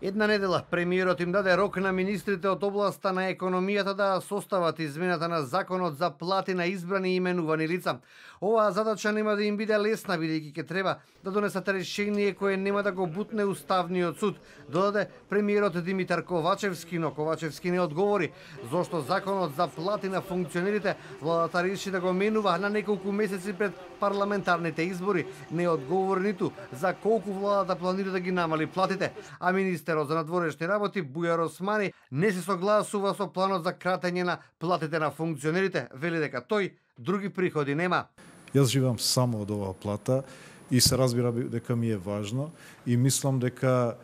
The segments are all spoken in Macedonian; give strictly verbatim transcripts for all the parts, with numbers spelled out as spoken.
Една недела премиерот им даде рок на министрите од областа на економијата да состават измената на законот за плати на избрани и именувани лица. Оваа задача нема да им биде лесна, бидејќи ќе треба да донесат решение кое нема да го бутне Уставниот суд, додаде премиерот Димитар Ковачевски, но Ковачевски не одговори зошто законот за плати на функционерите владата реши да го менува на неколку месеци пред парламентарните избори. Не одговори ниту за колку владата планира да ги намали платите, а министерот за надворешни работи Бујар Османи не се согласува со планот за кратење на платите на функционерите, вели дека тој други приходи нема. Јас живеам само од оваа плата и се разбира дека ми е важно и мислам дека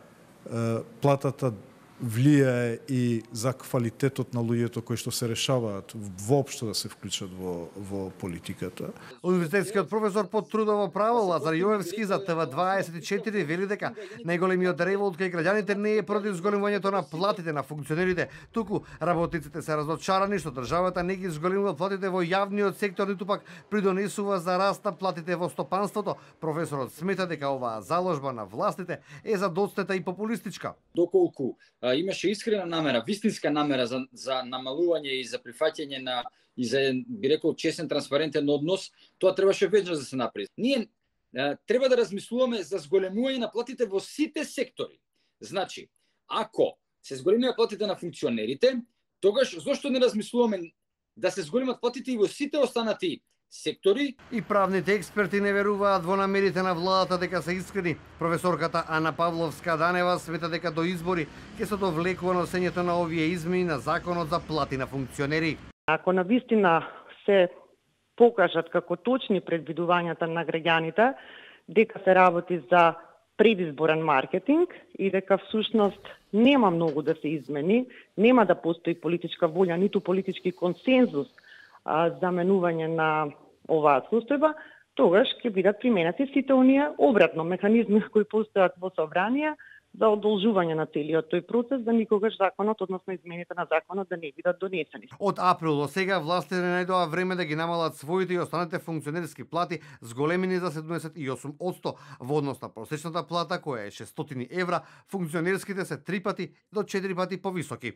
е, платата влијае и за квалитетот на луѓето кои што се решаваат воопшто да се вклучат во, во политиката. Универзитетскиот професор по трудово право Лазар Јовевски за Т В дваесет и четири вели дека најголемиот револт кај граѓаните не е против зголемувањето на платите на функционерите, туку работниците се разочарани што државата не ги зголемува платите во јавниот сектор, ниту пак придонесува за раст на платите во стопанството. Професорот смета дека оваа заложба на властите е задоцнета и популистичка. Доколку имаше искрена намера, вистинска намера за, за намалување и за прифаќање на и за, би рекол, честен, транспарентен однос, тоа требаше веќе да се направи. Ние е, треба да размислуваме за зголемување на платите во сите сектори. Значи, ако се зголемуваат платите на функционерите, тогаш зошто не размислуваме да се зголемат платите и во сите останати сектори? И правните експерти не веруваат во намерите на владата дека се искрени. Професорката Ана Павловска-Данева смета дека до избори ќе се довлекува носењето на овие измени на законот за плати на функционери. Ако навистина се покажат како точни предвидувањата на граѓаните дека се работи за предизборен маркетинг и дека всушност нема многу да се измени, нема да постои политичка волја, ниту политички консензус а, за менување на оваа состојба, тогаш ќе бидат применати сите оние обратно механизми кои постојат во собрание за одолжување на целиот тој процес, да никогаш законот, односно измените на законот, да не бидат донесени. Од април до сега властите не најдоа време да ги намалат своите и останатите функционерски плати, зголемени за седумдесет и осум одсто во однос на просечната плата која е шестстотини евра, функционерските се три пати до четири пати повисоки.